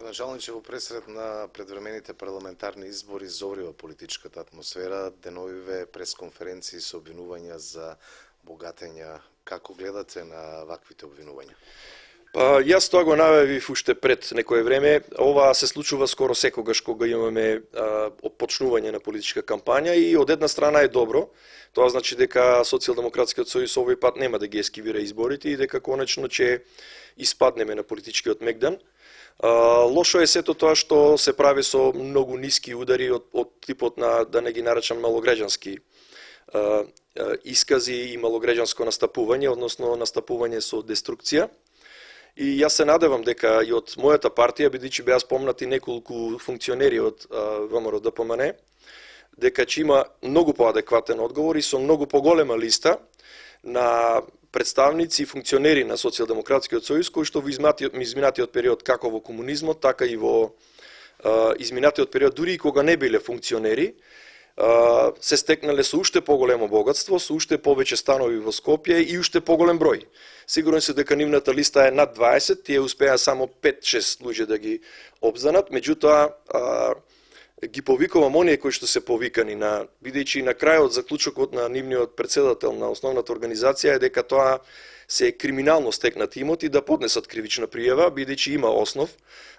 Градоначалниче, во пресред на предвремените парламентарни избори зоврива политичката атмосфера, деновиве пресконференции со обвинувања за богатења. Како гледате на ваквите обвинувања? Јас тоа го најавив уште пред некое време. Ова се случува скоро секогаш кога имаме почнување на политичка кампања и од една страна е добро. Тоа значи дека Социјалдемократскиот сојуз овој пат нема да ги ескивира изборите и дека конечно ќе испаднеме на политичкиот мегдан. Лошо е сето тоа што се прави со многу ниски удари од типот на, да не ги наречам, малограѓански искази и малограѓанско настапување, односно настапување со деструкција. И јас се надевам дека и од мојата партија, бидејќи беа спомнати неколку функционери од ВМРО ДПМН, дека ќе има многу поадекватен одговор и со многу поголема листа на представници и функционери на Социјалдемократскиот сојуз, кои што во изминатиот период, како во комунизмот, така и во изминатиот период, дури и кога не биле функционери, се стекнале со уште поголемо богатство, со уште повеќе станови во Скопје и уште поголем број. Сигурен се дека нивната листа е над 20, тие успеа само 5-6 луѓе да ги обзанат, меѓутоа ги повикувам оние кои што се повикани, бидејќи на крајот заклучокот на нивниот председател на основната организација е дека тоа се криминално стекнати имоти да поднесат кривична пријава, бидејќи има основ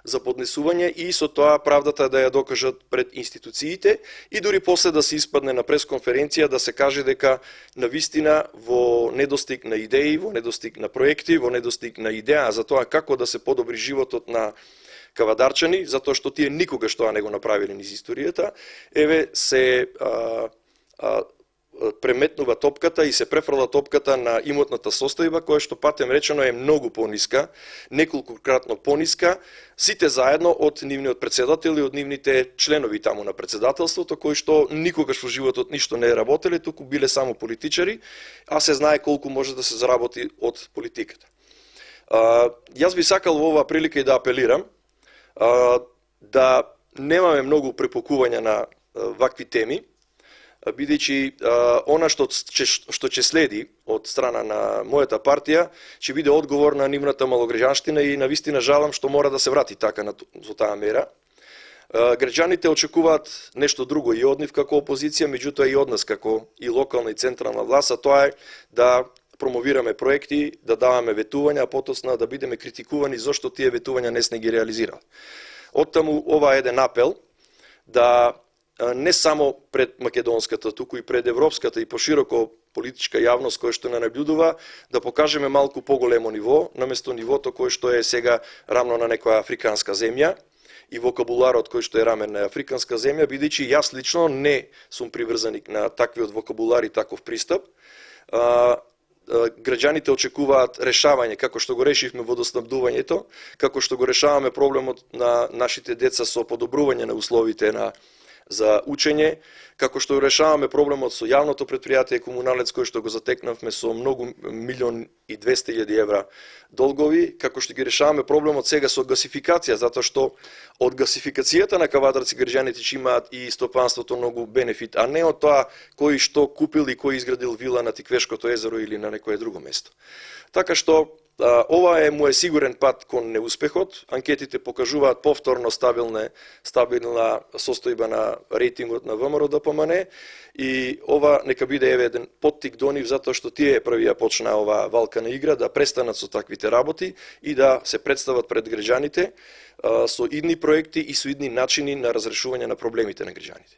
за поднесување и со тоа правдата да ја докажат пред институциите и дури после да се испадне на пресконференција да се каже дека навистина во недостиг на идеи, во недостиг на проекти, во недостиг на идеја за тоа како да се подобри животот на кавадарчани, затоа што тие никогаш тоа не го направиле низ историјата, еве се преметнува топката и се префрла топката на имотната состојба, која што патем речено е многу пониска, неколкократно пониска, сите заедно од нивниот председател и од нивните членови таму на председателството, кои што никогаш во животот ништо не работеле, туку биле само политичари, а се знае колку може да се заработи од политиката. Јас би сакал во оваа прилика и да апелирам да немаме многу препокувања на вакви теми, бидејќи она што ќе следи од страна на мојата партија ќе биде одговор на нивната малограѓанштина и навистина жалам што мора да се врати така со таа мера. Граѓаните очекуваат нешто друго и од нив како опозиција, меѓутоа и од нас како и локална и централна власт, а тоа е да промовираме проекти, да даваме ветувања, а потосна да бидеме критикувани зошто тие ветувања не сме ги реализирали. Оттаму ова е еден апел да не само пред македонската, туку и пред европската и пошироко политичка јавност која што не наблюдува, да покажеме малку поголемо ниво, наместо нивото кое што е сега рамно на некоја африканска земја и вокабуларот кој што е рамен на африканска земја, бидејќи јас лично не сум приврзаник на таквиот вокабулар и таков пристап. Граѓаните очекуваат решавање, како што го решивме водоснабдувањето, како што го решаваме проблемот на нашите деца со подобрување на условите за учење, како што решаваме проблемот со јавното претпријатие Комуналец, кој што го затекнавме со многу 1.200.000 евра долгови, како што ги решаваме проблемот сега со гасификација, затоа што од гасификацијата на Кавадарци граѓаните ќе имаат и стопанството многу бенефит, а не од тоа кој што купил и кој изградил вила на Тиквешкото езеро или на некое друго место. Така што ова е мој сигурен пат кон неуспехот. Анкетите покажуваат повторно стабилна состојба на рейтингот на ВМРО ДПМН и ова нека биде еден поттик до нив, затоа што тие први ја почна оваа валкана игра, да престанат со таквите работи и да се представат пред граѓаните со идни проекти и со идни начини на разрешување на проблемите на граѓаните.